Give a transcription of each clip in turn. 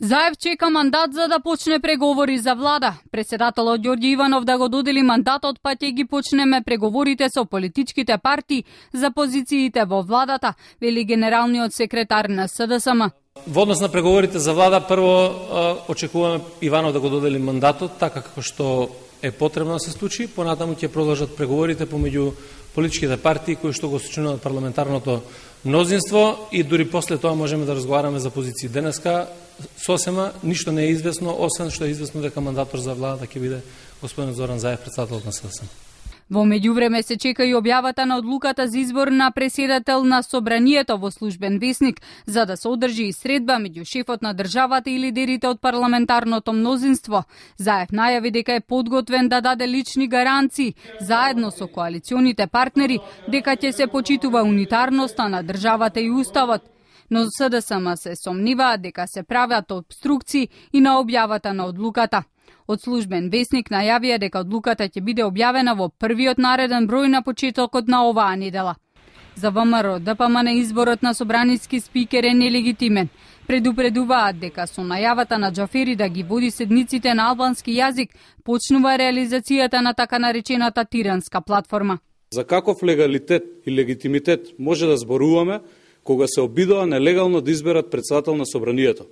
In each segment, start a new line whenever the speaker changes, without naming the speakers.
Заев чека мандат за да почне преговори за влада. Председателот Ѓорѓе Иванов да го додели мандатот, па ќе ги почнеме преговорите со политичките партии за позициите во владата, вели генералниот секретар на СДСМ.
Во однос на преговорите за влада, прво очекуваме Иванов да го додели мандатот, така како што е потребно да се случи. Понатаму ќе продолжат преговорите помеѓу политичките партии кои што го сочинуваат парламентарното мнозинство и дури после тоа можеме да разговараме за позиции. Денеска сосема ништо не е известно, освен што е известно дека мандатор за владата ќе биде господин Зоран Заев, председател на СДСМ.
Во меѓувреме се чека и објавата на одлуката за избор на претседател на Собранието во Службен весник, за да се одржи и средба меѓу шефот на државата и лидерите од парламентарното мнозинство. Заев најави дека е подготвен да даде лични гаранции, заедно со коалиционите партнери, дека ќе се почитува унитарноста на државата и уставот. Но СДСМ се сомниваат дека се прават обструкции и на објавата на одлуката. Од Службен весник најавија дека одлуката ќе биде објавена во првиот нареден број на почетокот на оваа недела. За ВМРО ДПМН изборот на собраниски спикер е нелегитимен. Предупредуваат дека со најавата на Џафери да ги води седниците на албански јазик, почнува реализацијата на така наречената тиранска платформа.
За каков легалитет и легитимитет може да зборуваме кога се обидува нелегално да изберат председател на Собранието?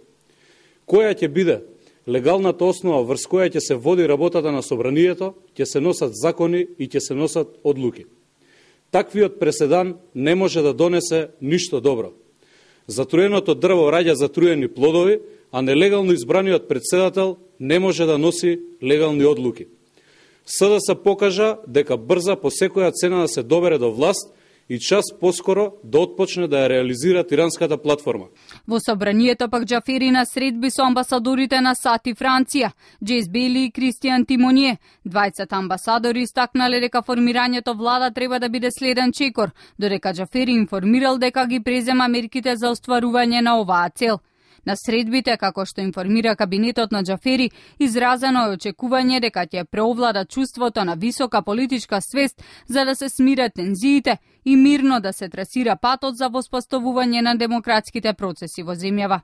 Која ќе биде легалната основа врз која ќе се води работата на Собранието, ќе се носат закони и ќе се носат одлуки. Таквиот преседан не може да донесе ништо добро. Затруеното дрво раѓа затруени плодови, а нелегално избраниот председател не може да носи легални одлуки. СДС покажа дека брза по секоја цена да се добере до власт и час поскоро да отпочне да ја реализира тиранската платформа.
Во Собранието пак Џафери на средби со амбасадорите на САД и Франција, Джейс Бейли и Кристијан Тимоние. Двајцата амбасадори истакнале дека формирањето влада треба да биде следен чекор, додека Џафери информирал дека ги презема мерките за остварување на оваа цел. На средбите, како што информира кабинетот на Џафери, изразено е очекување дека ќе преовлада чувството на висока политичка свест за да се смират тензиите и мирно да се трасира патот за воспоставување на демократските процеси во земјава.